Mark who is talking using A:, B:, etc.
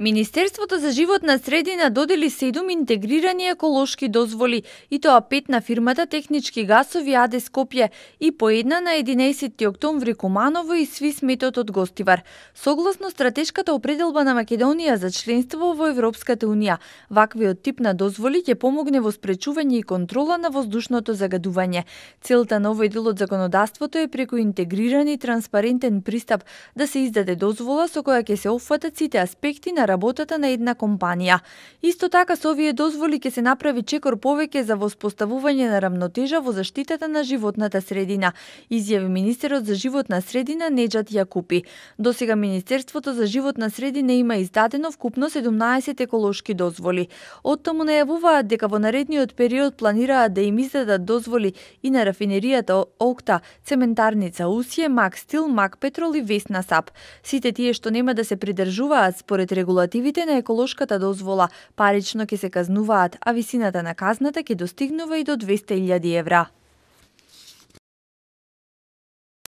A: Министерството за животна средина додели 7 интегрирани еколошки дозволи, и тоа 5 на фирмата Технички гасови АД Скопје и по една на 11 октомври Куманово и Свис Метод од Гостивар. Согласно стратешката определба на Македонија за членство во Европската унија, ваквиот тип на дозволи ќе помогне во спречување и контрола на воздушното загадување. Целта на овој дел од законодавството е преку интегриран и транспарентен пристап да се издаде дозвола со која ќе се опфатат сите аспекти на работата на една компанија. Исто така со овие дозволи ќе се направи чекор повеќе за воспоставување на рамнотежа во заштитата на животната средина, изјави министерот за животна средина Неџат Јакупи. Досега Министерството за животна средина има издадено вкупно 17 еколошки дозволи. Оттаму најавуваат дека во наредниот период планираат да им издадат дозволи и на рафинеријата Окта, цементарница Усје, Мак Стил, Мак Петрол и Весна Сап. Сите тие што нема да се придржуваат според регулативите на еколошката дозвола, парично ќе се казнуваат, а висината на казната ќе достигнува и до 200.000 евра.